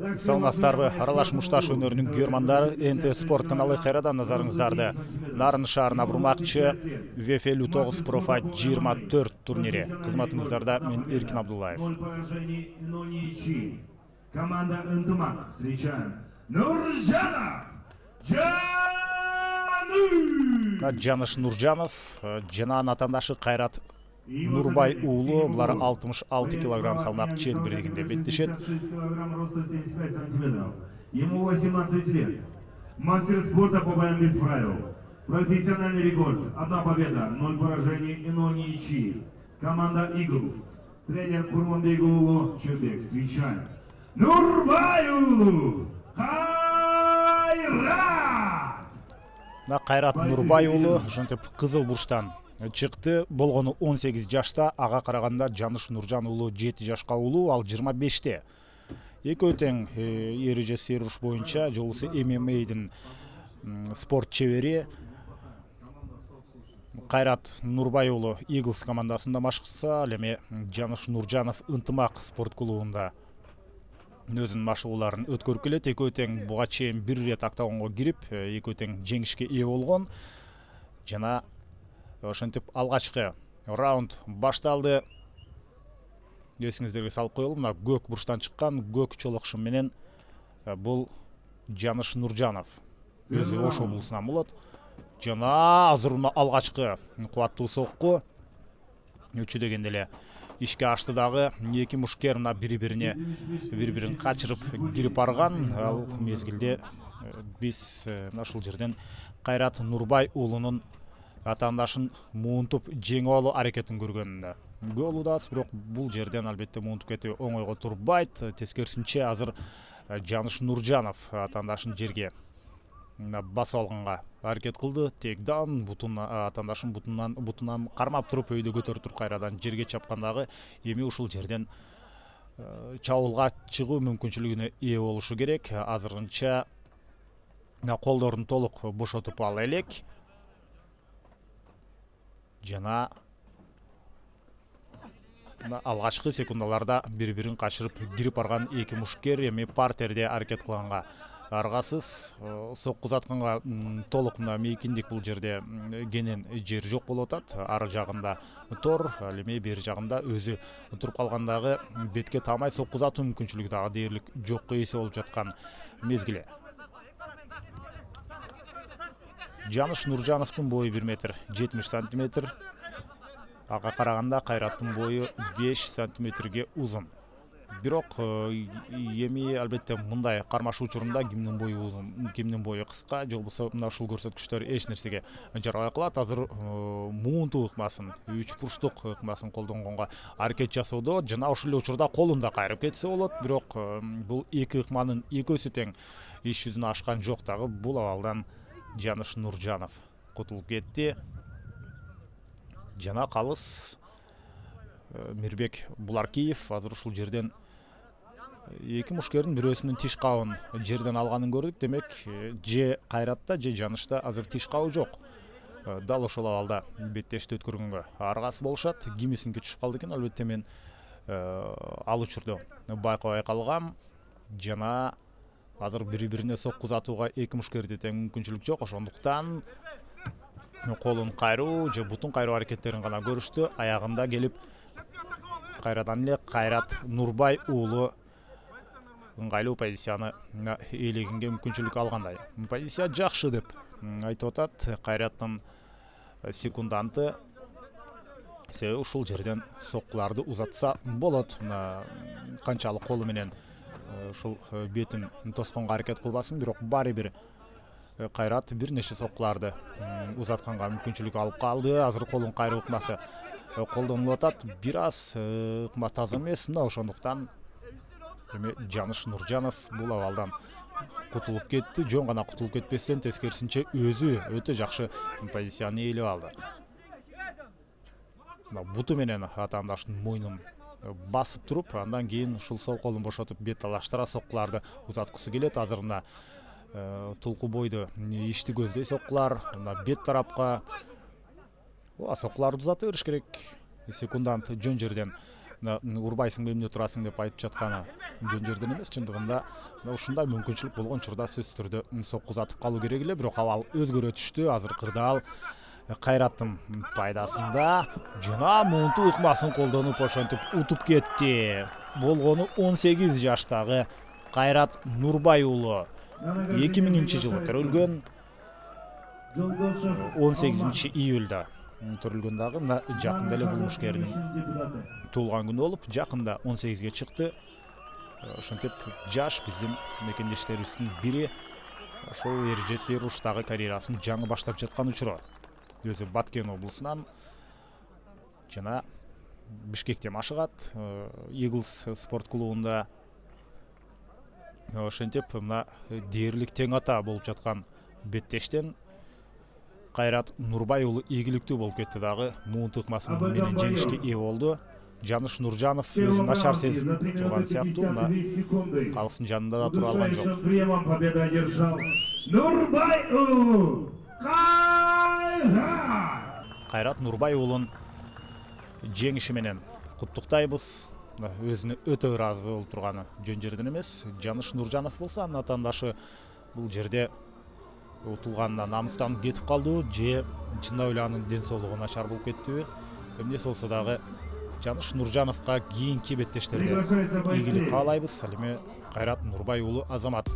Саламатсыздарбы, аралаш мушташ өнөрүнүн күйөрмандары, НТ Спорт каналы кайрадан назарыңыздарды. Нарын шаарына бурмакчы ВФ-59 Профайт 24 турнири. Кызматыңыздарда мен Эркин Абдуллаев. Команда «Ынтымак» встречаем Нуржанов Жаныш Нуржанов жана атандашы Кайрат Нурбай уулу, булар 66 килограмм салмак чен бирлигинде беттешет. Ему 18 лет. Мастер спорта по боям без правил. Профессиональный рекорд. 1 победа, 0 поражений и 0 ничьи. Команда «Иглс». Тренер Курманбек уулу Чебек. Встречаем Нурбай уулу Кайрат. Кайрат Нурбай уулу ошентип кызыл бурчтан чыкты. Болгону 18 жашта, ага караганда Жаныш Нуржан уулу 7 жашка уулу, ал 25-те. Экөө тең эреже серуш боюнча жолусу ММА'дын спорт чебери. Кайрат Нурбай уулу Иглс командасында машыкса, ал эми Жаныш Нуржанов Ынтымак спорт клубунда өзүнүн машыгууларын өткөрүп келет. Экөө тең буга чейин бир ирет октагонго кирип, экөө тең жеңишке ээ болгон. Жана ошентип алгачкы раунд башталды. Эсиңиздерге салып коелу, мына көк бурчтан чыккан көк чолокшум менен бул Жаныш Нуржанов. Өзү Ош облусунан болот. Жана азыр мына алгачкы кубаттуу сокку өчү дегенде эле ишке ашты дагы. Эки мушкер мына бири-бирин качырып кирип барган. Ал мезгилде биз ушул жерден Кайрат Нурбай уулунун атаандашын муунтуп жеңип алуу аракетин көргөнүндө болудабыз, бирок бул жерден албетте муунтуп кетүү оңойго турбайт. Тескерисинче азыр Жаныш Нуржанов атаандашын жерге басып алганга аракет кылды. Тейкдан атаандашын бутунан кармап туруп өйдө көтөрүп туруп кайрадан жерге чапкандагы эми ушул жерден чабуулга чыгуу мүмкүнчүлүгүнө ээ болушу керек. Азырынча колдорун толук бошотуп ала элек. Жана алгачкы секундаларда бири-бирин качырып кирип барган эки мушкер эми партерде аракет кылганга аргасыз. Сокку узатканга толук мына мейкиндик бул жерде кенен жер жок болуп атат. Ар жагында тор, ал эми бери жагында өзү туруп калгандагы бетке таамай сокку узатуу мүмкүнчүлүгү дагы дээрлик жокко эсе болуп жаткан мезгили. Жаныш Нуржановдун бою 1 метр 70 сантиметр. Ага караганда Кайраттын бою 5 сантиметрге узун. Бирок эми албетте мындай кармашуу учурунда кимдин бою узун, кимдин бою кыска же болбосо мына ушул көрсөткүчтөр эч нерсеге жарабай калат. Азыр муунтуу ыкмасын, 3 бурчтук ыкмасын колдонгонго аракет жасоодо, жана ошол эле учурда колун да кайрып кетсе болот. Бирок бул эки ыкманын экөөсү тең иш жүзүнө ашкан жок дагы. Бул абалдан Жаныш Нуржанов кутулуп кетти. Жана калыс Мирбек Буларкиев азыр ушул жерден эки мушкердин бирөөсүнүн тиш кабын жерден алганын көрдүк. Демек, же Кайратта, же Жанышта азыр тиш кабы жок. Дал ошол абалда беттешти өткөргөнгө аргасыз болушат. Кимисинки түшүп калды экен, албетте мен ал учурда байкабай калгам. Жана азыр бири-бирине сокку узатууга эки мушкерде тең мүмкүнчүлүк жок. Ошондуктан колун кайруу же бутун кайруу аракеттерин гана көрүштү. Аягында келип кайрадан эле Кайрат Нурбай уулу ыңгайлуу позицияны ээлегенге мүмкүнчүлүк алгандай. Позиция жакшы деп айтып атат Кайраттын секунданты. Себеби ушул жерден соккуларды узатса болот. Канчалык колу менен ушул бетин тосконго аракет кылбасын, бирок баары бир Кайрат бир нече соккуларды узатканга мүмкүнчүлүк алып калды. Азыр колун кайруу ыкмасы колдонулуп атат. Бир аз ыкма таза эмес. Мына ошондуктан эми Жаныш Нуржанов бул абалдан кутулуп кетти. Жөн гана кутулуп кетпестен, тескерисинче өзү өтө жакшы позицияны ээлеп алды. Буту менен атаандаштын мойнун басып туруп, андан кийин ушул сол колун бошотуп бет талаштыра соккуларды узаткысы келет. Азыр мына тулку бойду ишти көздөй соккулар, мына бет тарапка соккуларды узата бериш керек. Секундант жөн жерден урбайсыңбы эмне турасың деп айтып жатканы жөн жерден эмес. Чындыгында ушундай мүмкүнчүлүк болгон учурда сөзсүз түрдө сокку узатып калуу керек эле. Бирок абал өзгөрө түштү. Азыр кырдаал Кайраттын пайдасында жана муунту ыкмасын колдонуп ошентип утуп кетти. Болгону 18 жаштагы Кайрат Нурбай уулу 2000-жылы төрөлгөн, 18 июлда төрөлгөн дагы мына жакында эле бул мушкердин туулган күнү болуп, жакында 18ге чыкты. Ошентип жаш биздин мекендештерибиздин бири ошол эрежеси руштагы карьерасын жаңы баштап жаткан учуру. Өзү Баткен облусунан жана Бишкекте машыгат, Eagles спорт клубунда. Ошентип мына дээрлик тең ата болуп жаткан беттештен Кайрат Нурбай уулу ийгиликтүү болуп кетти дагы. Муунту ыкмасы менен жеңишке ээ болду. Жаныш Нуржанов өзүн начар сезип турган сыяктуу, мына калыстын жанында да тура алган жок. Победа одержал Нурбай уулу Кайрат Нурбай уулун жеңиши менен куттуктайбыз. Өзүнө өтө ыраазы болуп турганы жөн жерден эмес. Жаныш Нуржанов болсо анын атаандашы бул жерде утулганына намыстанып кетип калдыбы же чындап эле анын ден соолугу начар болуп кеттиби? Эмнеси болсо дагы Жаныш Нуржановго кийинки беттештерде ийгилик каалайбыз. Ал эми Кайрат Нурбай уулу Азамат.